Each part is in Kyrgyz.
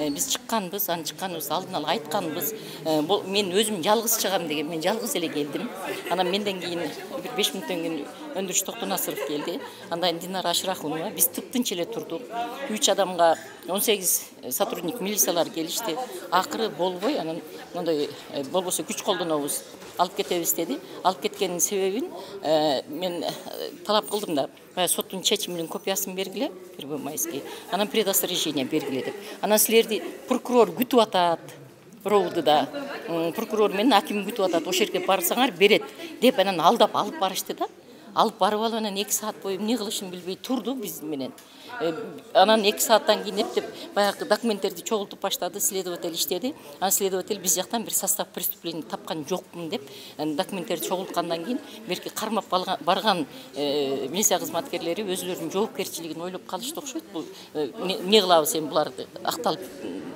биз чыкканбыз, анан чыкканыбызды алдын ала айтканбыз. Мен өзүм жалгыз чыгам деген, мен жалгыз эле келдим. Анан менден кийин бир 5 мүнөттөн кийин Өндүрүш Токтонасыров келди. Андан кийин Динара Ашырахунова. Биз тыптынч эле турдук. 3 адамга 18 сотрудник милициялар келишти. Акыры болбой, анан мондой болбосо күч колдонобуз, алып кетебиз деди. Алып кеткенин себебин мен талап кылдым да, соттун чечиминин копиясын бергиле, первомайский. Анан предостережение бергиле деп. Анан силерди прокурор күтүп атат. Роудуда прокурор менен аким күтүп атат. Ошол жерге барсаңар берет деп анан алдап алып барышты да. Алып барып алып анан 2 саат бою эмне кылышын билбей турду биз менен. Анан 2 сааттан кийин эптеп баягы документтерди чогултуп баштады, следователь иштеди. Анан следователь биз жактан бир состав преступления тапкан жокмун деп документтерди чогулткандан кийин берки кармап барган милиция кызматкерлери өзүлөрүнүн жоопкерчилигин ойлоп калышты окшойт. Бул эмне кылабыз эми буларды акталып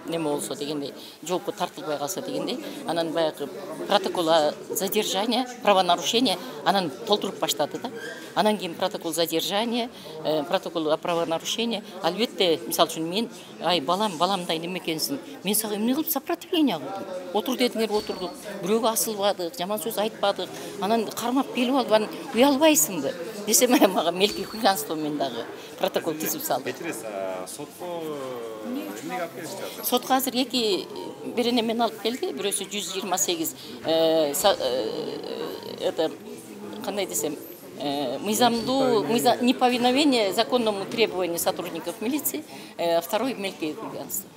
неме болсо дегендей, жоопко тартылбай калса дегендей. Анан баягы протокол задержания, правонарушения анан толтуруп баштады да. Анан кийин протокол задержания, протокол о правонарушении. Албетте, мисалы үчүн мен, ай баламдай неме экенсиң, мен сага эмне кылып сопротивление кылдым? Отур дедиңер, отурдук. Бирөөгө асылбадык, жаман сөз айтпадык. Анан кармап келип алып, анан уялбайсыңбы? Десем, мага мелкий хулиганство мен дагы протокол тизип салды. Сотко эмнеге алып келишти? Сотко азыр 2 беренемен алып келди. Бирөөсү 128 это кандай десем, неповиновение законному требованию сотрудников милиции, второй мелкие хулиганства.